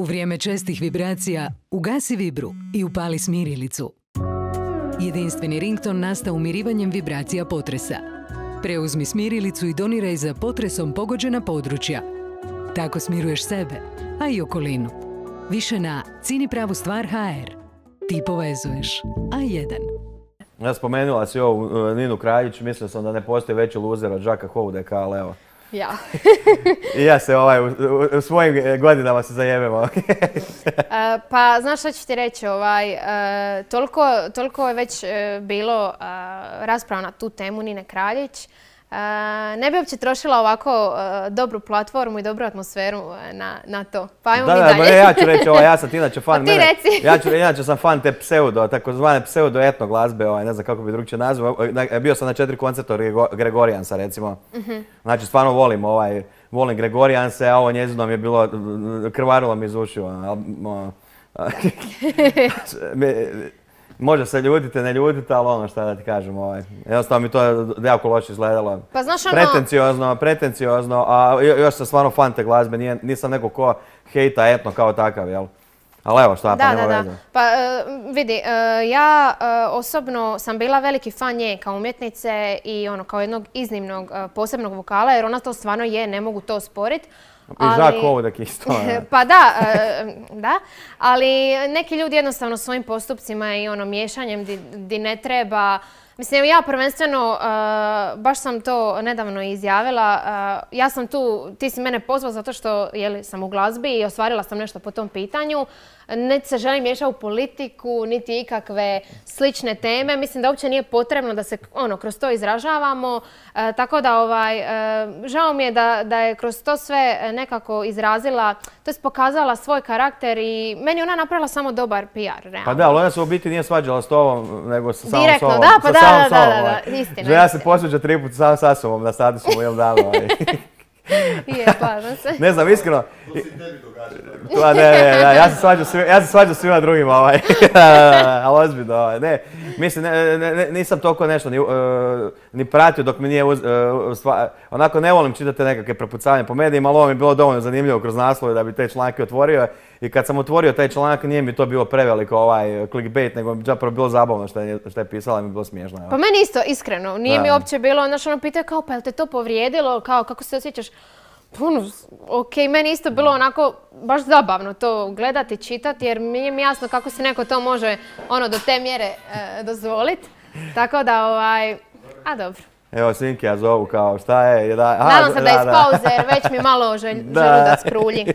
U vrijeme čestih vibracija ugasi vibru i upali smirilicu. Jedinstveni rington nastao umirivanjem vibracija potresa. Preuzmi smirilicu i doniraj za potresom pogođena područja. Tako smiruješ sebe, a i okolinu. Više na cinipravustvar.hr. Ti povezuješ. A1. Ja spomenula si ovu Ninu Kraljić, mislio sam da ne postoji veći luzer od Žaka Houdeka, ali evo. Ja. I ja se u svojim godinama se zajebemo. Pa, znaš što ću ti reći, toliko je već bilo rasprava na tu temu Nine Kraljić. Ne bi uopće trošila ovako dobru platformu i dobru atmosferu na to. Pa ajmo mi dalje. Ja ću reći, ja sam inače fan. Pa ti reci. Inače sam fan te takozvane pseudo-etno glazbe, ne znam kako bi drugčije nazvao. Bio sam na 4 koncerta Gregorijansa, recimo. Znači, stvarno volim Gregorijanse, a ovo njezino mi je bilo, krvarilo mi iz ušiju. Može se ljutite, ne ljutite, ali ono šta da ti kažem, jednostavno mi to jako loše izgledalo. Pa znaš Pretenciozno, a još sam stvarno fan te glazbe, nisam neko ko hejta etno kao takav, jel? Ali evo šta, pa nema veze. Pa vidi, ja osobno sam bila veliki fan nje kao umjetnice i kao jednog iznimnog posebnog vokala, jer ona to stvarno je, ne mogu to osporiti. I Žak Houdek isto. Pa da, ali neki ljudi jednostavno svojim postupcima i miješanjem di ne treba. Mislim, ja prvenstveno, baš sam to nedavno izjavila, ja sam tu, ti si mene pozvao zato što sam u glazbi i ostvarila sam nešto po tom pitanju. Niti se želim miješati u politiku, niti ikakve slične teme. Mislim da uopće nije potrebno da se kroz to izražavamo. Tako da žao mi je da je kroz to sve nekako izrazila, to jest pokazala svoj karakter i meni ona napravila samo dobar PR. Realno. Pa da, ali ona se u biti nije svađala s tobom, nego sa samom direktno, sobom. Da, pa da, istina. Ja se posveđa 3 puta sam sa sobom na statusu u jednom danu. Je, slažem se. Ne znam, iskreno. To se tebi događa. Ja se svađam svima drugima, ali ozbiljno, ne. Mislim, nisam toliko nešto ni pratio dok mi nije, onako ne volim čitati nekakve prepucavanja po medijima, ali ovo mi je bilo dovoljno zanimljivo kroz naslove da bi te članke otvorio. I kad sam otvorio taj članak, nije mi to bilo preveliko clickbait, nego mi zapravo bilo zabavno što je pisala i mi je bilo smiješno. Pa meni isto, iskreno, nije mi uopće bilo, znaš, pitaju kao, pa je li te to povrijedilo, kao, kako se osjećaš? Okej, meni isto bilo onako baš zabavno to gledati, čitati, jer mi je jasno kako se neko to može do te mjere dozvoliti. Tako da, a dobro. Evo, Sinki ja zovu kao šta je. Nadam se da je iz pauze, jer već mi malo želudac krulji.